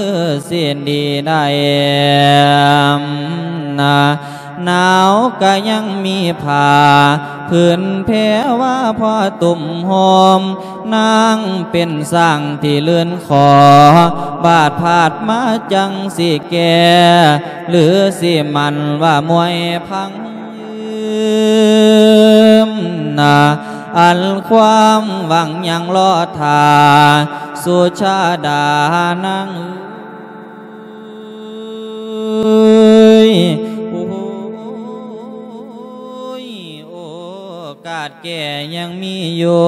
ຊິດີໄດ້ ນາ ໜາວກະຍັງມີຜ້າ ຜືນແພວ່າພໍຕຸ້ມໂຮມ ນາງເປັນຊ້າງທີ່ລື່ນຂໍ ບາດພາດມາຈັ່ງຊິແກ່ ຫຼືຊິໝັ້ນວ່າມວຍພັງ ນາ ອັນຄວາມຫວັງຍັງລໍຖ້າ ສຸຊາດານາງ ໂອ້ຍ ໂອກາດແກ້ຍັງມີຢູ່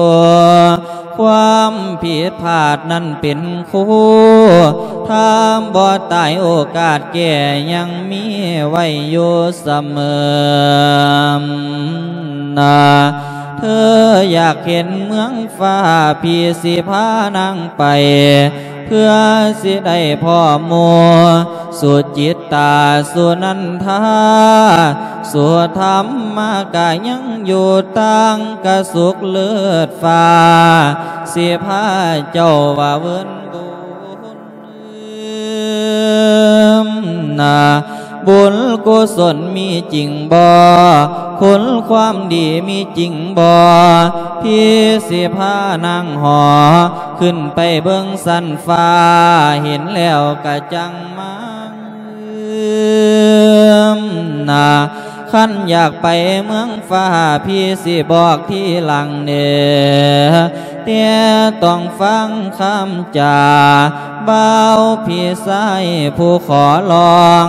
ຄວາມຜິດພາດນັ້ນເປັນຄູ ຖ້າບໍ່ຕາຍໂອກາດແກ້ຍັງມີໄວ້ຢູ່ສະເໝີ ນາ ເທີຢາກເຫັນເມືອງຟ້າ ພີ່ຊິພານາງໄປ ເພື່ອຊິໄດ້ພໍ້ໝູ່ ສຸຈິດຕາສຸນັນທາ ສຸທຳມະກະຍັງຢູ່ຕ່າງກະສຸກເລີດຟ້າ ຊິພາເຈົ້າວ່າເວີນບຸນນາ ບຸນກຸສົນມີຈິງບໍ່? ຄຸນຄວາມດີມີຈິງບໍ່? ພີ່ຊິພານາງຫໍຂຶ້ນໄປເບິ່ງຊັ້ນຟ້າ ເຫັນແລ້ວກະຈັງ ມານາ ຄັນຢາກໄປເມືອງຟ້າ ພີ່ຊິບອກທີຫຼັງເດີ ແຕ່ຕ້ອງຟັງຄຳຈາ ບ່າວພີ່ຊາຍຜູ້ຂໍຮ້ອງ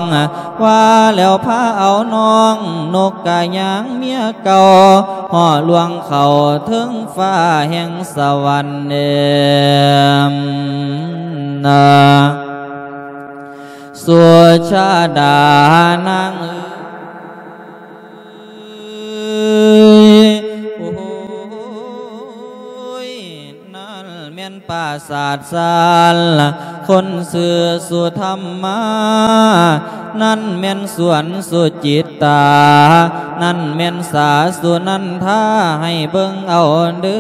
ວ່າແລ້ວພາເອົານ້ອງນົກກະຍາງເມຍເກົ່າ ເຫາະລ່ວງເຂົ້າເທິງຟ້າແຫ່ງສະຫວັນເດີ ນາ ສຸຊາດານາງເອີຍ ໂອ້ຍ ນັ້ນແມ່ນປາສາດຊານ ຄົນຊື່ສຸທຳມາ ນັ້ນແມ່ນສວນສຸຈິດຕາ ນັ້ນແມ່ນສາສຸນັນທາ ໃຫ້ເບິ່ງເອົາເດີ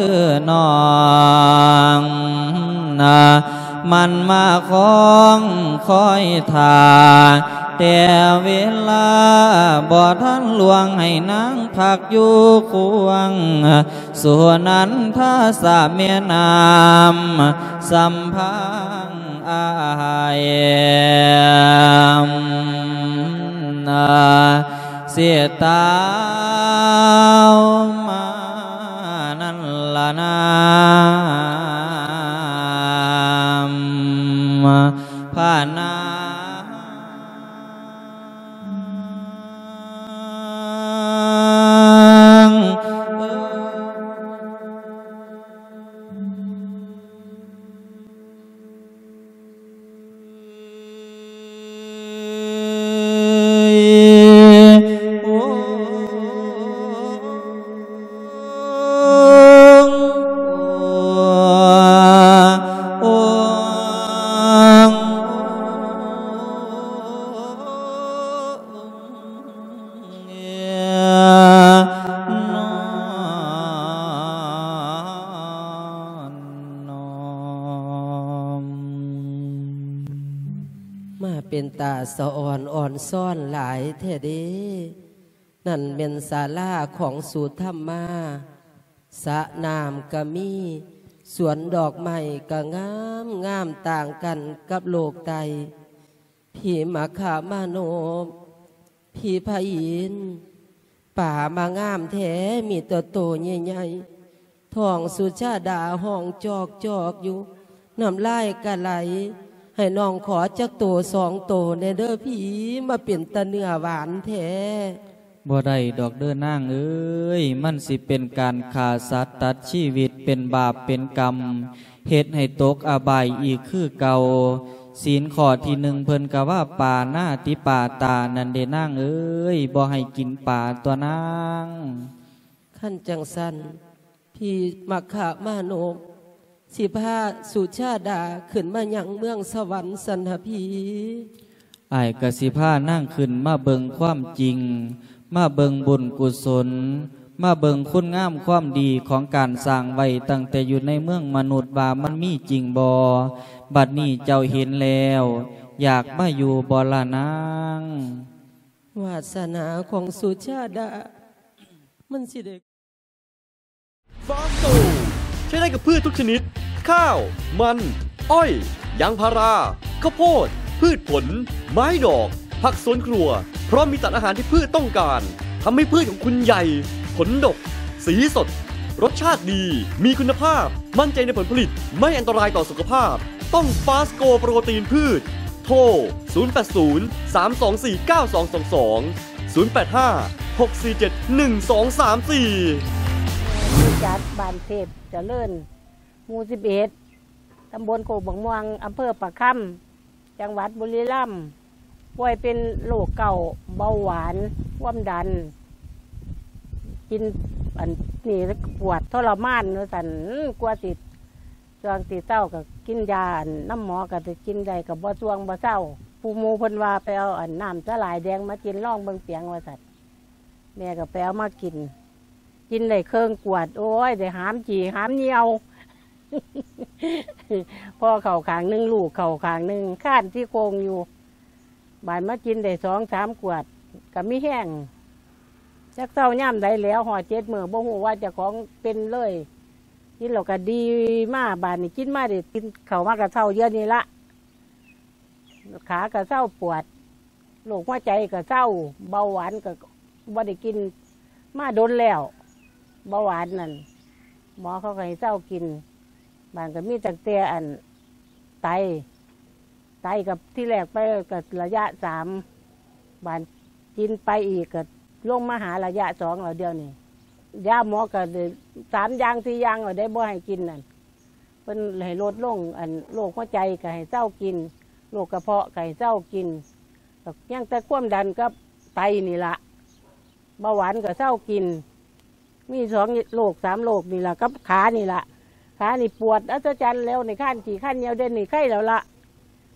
ນ້ອງນາ ມັນມາຄອງຄອຍຖ້າ ແຕ່ເວລາບໍ່ທັນລ່ວງ ໃຫ້ນາງພັກຢູ່ຄວງ ສຸນັນທາສະແມ່ນ້ຳສຳພັງອ້າຍ ນາ ເສດຕາວມານັ້ນລະນາ ພານາ ມາເປັນຕາສະອອນອອນຊ້ອນຫຼາຍແທ້ເດ. ນັ້ນແມ່ນສາລາຂອງສຸທຳມາ, ສະນ້ຳກະມີ, ສວນດອກໄມ້ກະງາມງາມຕ່າງກັນກັບໂລກໃຕ້. ພີ່ມະຄະມານົບ, ພີ່ພະອິນ, ປາມາງາມແທ້, ມີແຕ່ໂຕໃຫຍ່ໆ. ທ້ອງສຸຊາດາຮ້ອງຈອກໆຢູ່, ນ້ຳລາຍກະໄຫຼ. ໃຫ້ນ້ອງຂໍຈັກໂຕສອງໂຕແດ່ເດີພີ່, ມາເປັນຕາເນື້ອຫວານແທ້. ບໍ່ໄດ້ດອກເດີນາງເອີຍ, ມັນຊິເປັນການຂ້າສັດຕັດຊີວິດ, ເປັນບາບເປັນກຳ, ເຮັດໃຫ້ຕົກອະບາຍອີກຄືເກົ່າ. ສິນຂໍ້ທີໜຶ່ງເພິ່ນກະວ່າປານາຕິປາຕານັ້ນເດນາງເອີຍ, ບໍ່ໃຫ້ກິນປາຕົວະນາງ. ຄັນຈັ່ງຊັ້ນ ພີ່ມະຄະມານົບ ຊິພາສຸຊາດາຂຶ້ນມາຍັງເມືອງສະຫວັນຊັ້ນຫະພີ່. ອ້າຍກະຊິພານາງຂຶ້ນມາເບິ່ງຄວາມຈິງ, ມາເບິ່ງບຸນກຸສົນ, ມາເບິ່ງຄຸນງາມຄວາມດີຂອງການສ້າງໄວ້ຕັ້ງແຕ່ຢູ່ໃນເມືອງມະນຸດວ່າມັນມີຈິງບໍ່. ບັດນີ້ເຈົ້າເຫັນແລ້ວ, ຢາກມາຢູ່ບໍ່ລະນາງ? ວາສະໜາຂອງສຸຊາດາ ມັນຊິໄດ້ ฟาสโต ใช้ได้กับพืชทุกชนิด ข้าว มัน อ้อย ยางพารา ข้าวโพด พืชผล ไม้ดอก ผักสวนครัว พร้อมมีสารอาหารที่พืชต้องการ ทำให้พืชของคุณใหญ่ ผลดก สีสด รสชาติดี มีคุณภาพ มั่นใจในผลผลิต ไม่อันตรายต่อสุขภาพ ต้องฟาสโกโปรตีนพืช โทร ศูนย์แปดศูนย์ สามสองสี่ เก้าสองสองสอง ศูนย์แปดห้า หกสี่เจ็ด หนึ่งสองสามสี่ บริษัทบ้านเทพเจริญ หมู่สิบเอ็ด ตำบลโคกบักม่วง อำเภอประคำ จังหวัดบุรีรัมย์ ป่วยเป็นโรคเกาต์ เบาหวาน ความดัน กินอันนี้ปวดทรมานว่าซั่น กว่าสิ ช่วงสิเซาก็กินยาอันนำหมอ ก็สิกินได้ก็บ่ส่วงบ่เซา ຜູ້ໝູ່ເພິ່ນວ່າໄປເອົາອັນນ້ຳສາຫຼ່າຍແດງມາກິນລອງເບິ່ງປຽງວ່າຊັ້ນ ແມ່ກໍໄປເອົາມາກິນ ກິນໄດ້ເຄິ່ງຂວດ ໂອ້ຍ ໄດ້ຫາມຂີ້ຫາມຍ່ຽວ ພໍ່ເຂົ້າຂ້າງໜຶ່ງ ລູກເຂົ້າຂ້າງໜຶ່ງ ຄານຊີ້ໂຄງຢູ່ ບາດມາກິນໄດ້ສອງສາມຂວດ ກໍມີແຮງ ຈັກເຊົາຍາມໃດແລ້ວ ຮອດເຈັດມື້ ບໍ່ຮູ້ວ່າເຈົ້າຂອງເປັນເລີຍ ກິນແລ້ວກໍດີມາ ບາດນີ້ກິນມາໄດ້ ກິນເຂົ້າມາກໍເຊົາດຽວນີ້ລະ ຂາກໍເຊົາປວດ ໂລກຫົວໃຈກໍເຊົາ ເບົາຫວານກໍບໍ່ໄດ້ກິນມາດົນແລ້ວ ເບົາຫວານນັ້ນ ໝໍເຂົາກໍໃຫ້ເຊົາກິນ ບາດກໍມີຕັ້ງແຕ່ອັນ ໄຕ ໄຕກໍທີແລກໄປກໍໄລຍະສາມ ບາດກິນໄປອີກກໍລົງມາຫາໄລຍະສອງແລ້ວດຽວນີ້ ຢາໝໍກໍໄດ້ສາມຢ່າງສີ່ຢ່າງແລ້ວໄດ໋ ບໍ່ໃຫ້ກິນນັ້ນ ເພິ່ນໃຫ້ລົດລົງ ອັນໂລກຫົວໃຈກໍໃຫ້ເຊົາກິນ ໂລກກະເພາະກໍໃຫ້ເຊົາກິນ ກໍຍັງແຕ່ຄວາມດັນກັບໄຕນີ້ລະ ເບົາຫວານກໍເຊົາກິນ ມີສອງໂລກສາມໂລກນີ້ລະ ກັບຂານີ້ລະ ຂານີ້ປວດອັດສະຈັນແລ້ວ ໃນຄານຂີ້ຄານຍ່ຽວ ດຽວນີ້ໄຄແລ້ວລະ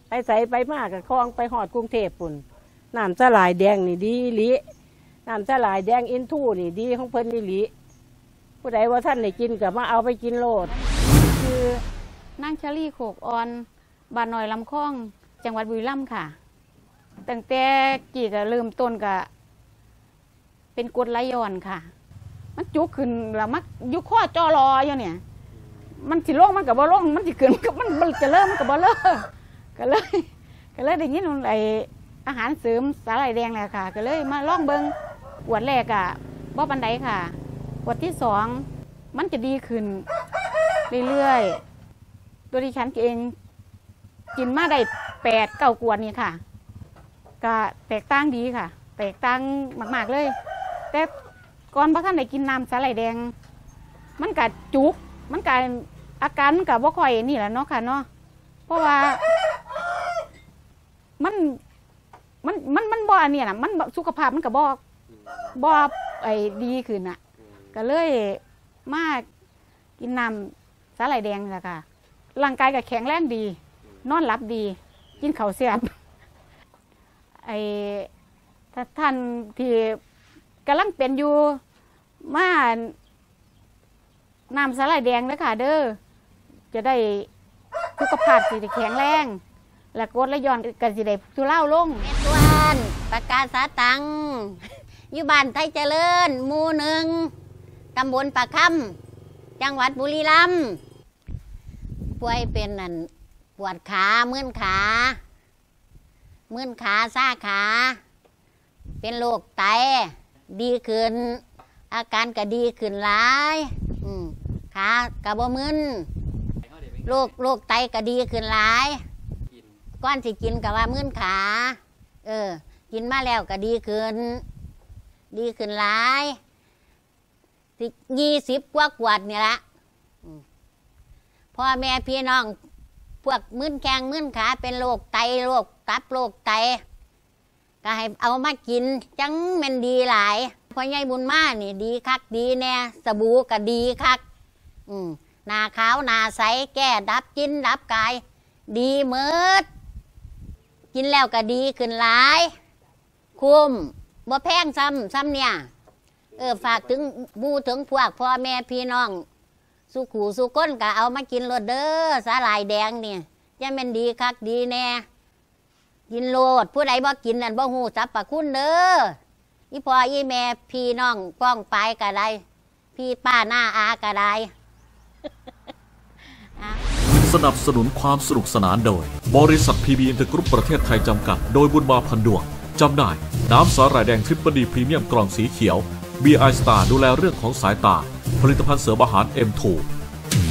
ໄປໃສໄປມາກໍຄ່ອງໄປຮອດກຸງເທບພຸ້ນ ນ້ຳສາຫຼ່າຍແດງນີ້ດີອີ່ຫຼີ ນ້ຳສາຫຼ່າຍແດງອິນທູນີ້ດີຂອງເພິ່ນອີ່ຫຼີ ຜູ້ໃດບໍ່ທັນໄດ້ກິນກໍມາເອົາໄປກິນໂລດ. ຊື່ນາງຊາລີ ໂຄກອ່ອນ ບ້ານນ້ອຍລຳຄອງ ຈັງຫວັດບຸລີລຳຄ່ະ. ຕັ້ງແຕ່ກີ້ກະເລີ່ມຕົ້ນກະເປັນກົດໄຫຼຍ້ອນຄ່ະ ມັນຈຸກຂຶ້ນແລ້ວມາຢູ່ຄໍຈໍ່ລໍຢູ່ນີ້ ມັນຊິລົງມັນກະບໍ່ລົງ ມັນຊິຂຶ້ນມັນກະບໍ່ ມັນຈະເລີມັນກະບໍ່ເລີ ກະເລີຍ ກະເລີຍໄດ້ຍິນໄອ້ອາຫານເສີມສາຫຼ່າຍແດງແຫຼະຄ່ະ ກະເລີຍມາລອງເບິ່ງ ຂວດແລກກະບໍ່ປານໃດຄ່ະ ຂວດທີສອງມັນຈະດີຂຶ້ນເລື້ອຍໆ ໂດຍທີ່ສັນເອງກິນມາໄດ້ແປດເກົ້າຂວດນີ້ຄ່ະ ກະແຕກຕ່າງດີຄ່ະ ແຕກຕ່າງມາກໆເລີຍ ແຕ່ກ່ອນບໍ່ທັນໄດ້ກິນນ້ຳສາຫຼ່າຍແດງ ມັນກະຈຸກ ມັນກະ ອາການມັນກະບໍ່ຄ່ອຍນີ້ລະເນາະຄ່ະເນາະ ເພາະວ່າມັນ ມັນ ມັນ ມັນບໍ່ອັນນີ້ນະ ມັນ ສຸຂະພາບມັນກະບໍ່ ບໍ່ ໄອ້ ດີຂຶ້ນນະ ກະເລີຍມາ ກິນນ້ຳສາຫຼ່າຍແດງນີ້ລະຄ່ະ ຮ່າງກາຍກໍແຂງແຮງດີ ນອນຫຼັບດີ ກິນເຂົ້າແຊບ ໄອ້ ຖ້າທ່ານທີ່ກຳລັງເປັນຢູ່ ມາ ນ້ຳສາຫຼ່າຍແດງເດີຄ່ະເດີ ຈະໄດ້ ສຸຂະພາບຊິໄດ້ແຂງແຮງ ແລະກົດໄຫຼຍ້ອນກໍຊິໄດ້ທຸເລົາລົງ. ແມ່ນຕວນ ປະກາສາຕັງ ຢູ່ບ້ານໄທຈະເລີນ ໝູ່ໜຶ່ງ ຕຳບົນປາຄຳ ຈັງຫວັດບຸລີລຳ ປ່ວຍເປັນອັນ ປວດຂາ ມຶນຂາ ມຶນຂາ ຊາຂາ ເປັນໂລກໄຕ ດີຂຶ້ນ ອາການກະດີຂຶ້ນຫຼາຍ ອືມ ຂາກະບໍ່ມຶນ ໂລກ ໂລກໄຕກະດີຂຶ້ນຫຼາຍ ກ່ອນຊິກິນກະວ່າມຶນຂາ ເອີ ກິນມາແລ້ວກະດີຂຶ້ນ ດີຂຶ້ນຫຼາຍ ຊິ ຍີ່ສິບກວ່າຂວດນີ້ລະ ອືມ ພໍ່ແມ່ພີ່ນ້ອງ ພວກມຶນແຂ້ງມຶນຂາ ເປັນໂລກໄຕ ໂລກຕັບ ໂລກໄຕ ກະໃຫ້ເອົາມາກິນ ຈັ່ງແມ່ນດີຫຼາຍ ພໍ່ໃຫຍ່ບຸນມານີ້ດີຄັກດີແນ່ ສະບູກະດີຄັກ ອືມ ໜ້າຂາວໜ້າໃສ ແກ້ດັບກິນດັບກາຍ ດີໝົດ ກິນແລ້ວກະດີຂຶ້ນຫຼາຍ ຄຸ້ມ ບໍ່ແພງຊ້ຳ ຊ້ຳເນີ້ຍ ເອີ ຝາກເຖິງໝູ່ເຖິງພວກ ພໍ່ແມ່ພີ່ນ້ອງ ສູ່ຄູ່ສູ່ຄົນກະເອົາມາກິນໂລດເດີ ສາຫຼ່າຍແດງນີ້ ຈະແມ່ນດີຄັກດີແນ່ ກິນໂລດ ຜູ້ໃດບໍ່ກິນນັ້ນບໍ່ຮູ້ສັບພະຄຸນເດີ ອີ່ພໍ່ອີ່ແມ່ ພີ່ນ້ອງປ້ອງປາຍກະໄດ້ ພີ່ປ້ານ້າອາກະໄດ້. ສະໜັບສະໜູນຄວາມສະໜຸກສະໜານໂດຍ ບໍລິສັດ ພີບີ ອິນເຕີກຣຸບ ປະເທດໄທ ຈຳກັດ ໂດຍ ບຸນມາ ພັນດວງ ຈຳໜ່າຍ ນ້ຳສາຫຼ່າຍແດງ Triple D ພຣີມຽມ ກ່ອງສີຂຽວ B I Star ດູແລເລື່ອງຂອງສາຍຕາ ຜະລິດຕະພັນເສີມອາຫານ M two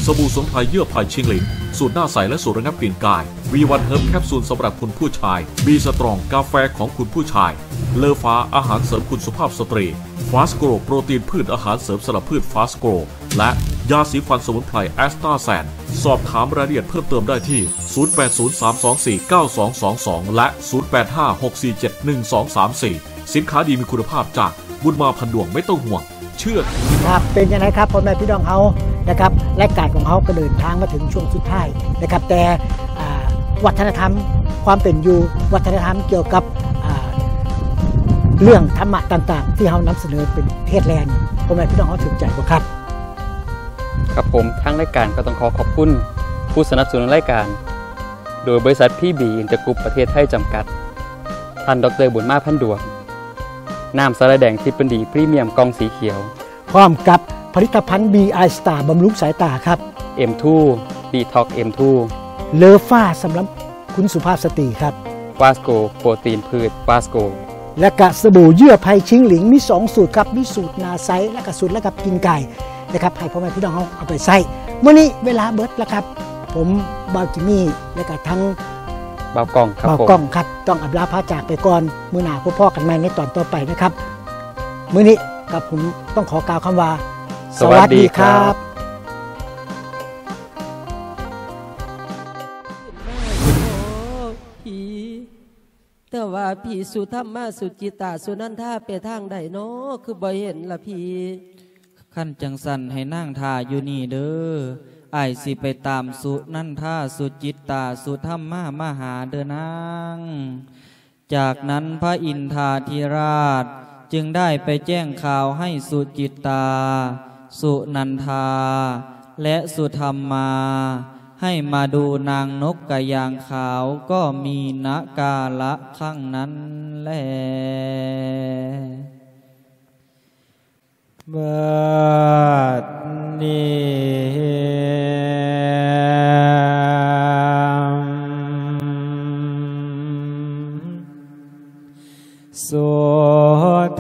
ສະບູສະໝຸນໄພເຍື່ອໄຜ່ຊິງຫຼິງ ສູດໜ້າໃສ ແລະ ສູດລະງັບກິ່ນກາຍ V one Herb ແຄັບຊູນສຳລັບຄຸນຜູ້ຊາຍ B Strong ກາແຟຂອງຄຸນຜູ້ຊາຍ ເລີຟ້າ ອາຫານເສີມຄຸນສຸພາບສະຕຣີ Fast Grow ໂປຣຕີນພືດ ອາຫານເສີມສຳລັບພືດ Fast Grow ແລະ ຢາສີຟັນສະໝຸນໄພ Astasen ສອບຖາມລາຍລະອຽດເພີ່ມເຕີມໄດ້ທີ່ ສູນແປດສູນສາມສອງສີ່ເກົ້າສອງສອງສອງ ແລະ ສູນແປດຫ້າຫົກສີ່ເຈັດໜຶ່ງສອງສາມສີ່ ສິນຄ້າດີມີຄຸນນະພາບຈາກບຸນມາ ພັນດວງ ໄມ່ຕ້ອງຫ່ວງ ເຊື່ອຖື. ຄັບ ເປັນຈັ່ງໃດຄັບ ພໍ່ແມ່ພີ່ນ້ອງເຮົານະຄັບ ລາຍການຂອງເຮົາກໍເດີນທາງມາເຖິງຊ່ວງສຸດທ້າຍນະຄັບ ແຕ່ ອ່າ ວັດທະນະທຳຄວາມເປັນຢູ່ ວັດທະນະທຳກ່ຽວກັບ ອ່າ ເລື່ອງທຳມະຕ່າງໆ ທີ່ເຮົານຳສະເໜີເປັນເທດແລນີ້ ພໍ່ແມ່ພີ່ນ້ອງເຮົາຖືກໃຈບໍ່ຄັບ? ຄັບຜົມ, ທາງລາຍການກໍຕ້ອງຂໍຂອບຄຸນຜູ້ສະໜັບສະໜູນລາຍການ ໂດຍບໍລິສັດ ພີບີ ອິນເຕີກຣຸບ ປະເທດໄທ ຈຳກັດ, ທ່ານ ດອກເຕີ ບຸນມາ ພັນດວງ, ນ້ຳສາຫຼ່າຍແດງທິບບະດີ ພຣີມຽມ ກ່ອງສີຂຽວ ພ້ອມກັບຜະລິດຕະພັນ ບີໄອ ສະຕາ ບຳລຸງສາຍຕາຄັບ, ເອັມທູ ດີທັອກ ເອັມທູ ເລີຟາ ສຳລັບຄຸນສຸພາບສະຕີຄັບ, ຟາສໂກ ໂປຣຕີນພືດ ຟາສໂກ ແລະກະສະບູເຍື່ອໄພຊິງຫຼິງ ມີສອງສູດຄັບ, ມີສູດໜ້າໃສ ແລະກະສູດລະດັບກິ່ງກ່າຍນະຄັບ ໃຫ້ພໍ່ແມ່ພີ່ນ້ອງເຮົາເອົາໄປໃຊ້. ມື້ນີ້ເວລາເບິດລະຄັບ, ຜົມ ບ່າວຈິມມີ ແລະກະທັງ ບ່າວກ້ອງ ບ່າວກ້ອງຄັບ ຕ້ອງອຳລາພາຈາກໄປກ່ອນ. ມື້ໜ້າພົບພໍ້ກັນໃໝ່ໃນຕອນຕໍ່ໄປນະຄັບ. ມື້ນີ້ກັບຜົມຕ້ອງຂໍກ່າວຄຳວ່າ ສະຫວັດດີຄັບ. ແຕ່ວ່າພີ່ສຸທຳມາ ສຸຈິຕາ ສຸນັນທາ ໄປທາງໃດນໍ ຄືບໍ່ເຫັນລະພີ່? ຄັນຈັ່ງຊັ້ນໃຫ້ນາງຖ້າຢູ່ນີ້ເດີ, ອ້າຍຊິໄປຕາມສຸນັນທາ ສຸຈິດຕາ ສຸທຳມາມາຫາເດີນາງ. ຈາກນັ້ນພະອິນທາທິລາດຈຶ່ງໄດ້ໄປແຈ້ງຂ່າວໃຫ້ສຸຈິດຕາ ສຸນັນທາ ແລະ ສຸທຳມາ ໃຫ້ມາດູນາງນົກກະຢາງຂາວ ກໍມີນະກາລະຄັ້ງນັ້ນແລ. ບັດນີ້ ສຸ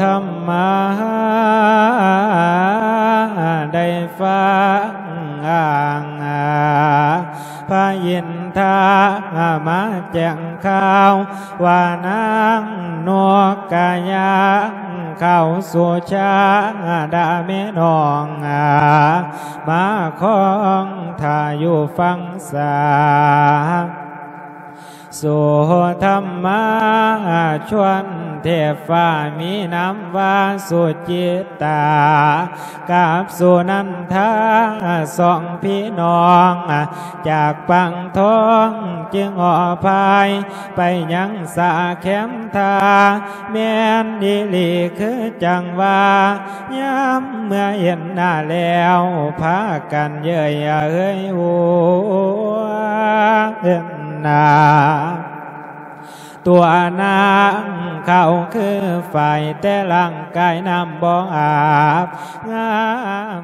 ທຳມາໄດ້ຟັງພະອິນທາມາແຈ້ງຂ່າວວ່າ ນາງນົກກະຢາງຂາວສຸຊາດາແມ່ນ້ອງ ມາຄອງຖ້າຢູ່ຝັ່ງສາ. ສຸທຳມາຊວນເທບຟ້າ ມີນາມວ່າສຸຈິດຕາ ກັບສຸນັນທາ ສອງພີ່ນ້ອງຈາກປາງທອງ ຈຶ່ງອອກພາຍໄປຍັງສາແຄມທ່າ. ແມ່ນອີ່ຫຼີຄືຈັ່ງວ່າ ຍາມເມື່ອເຫັນໜ້າແລ້ວ ພາກັນເຍີ້ຍເຮີຍຫົວເຫັນໜ້າ ຕົວນາງຂາວຄືຝ້າຍ ແຕ່ຮ່າງກາຍນ້ຳບໍ່ອາບ ງາມ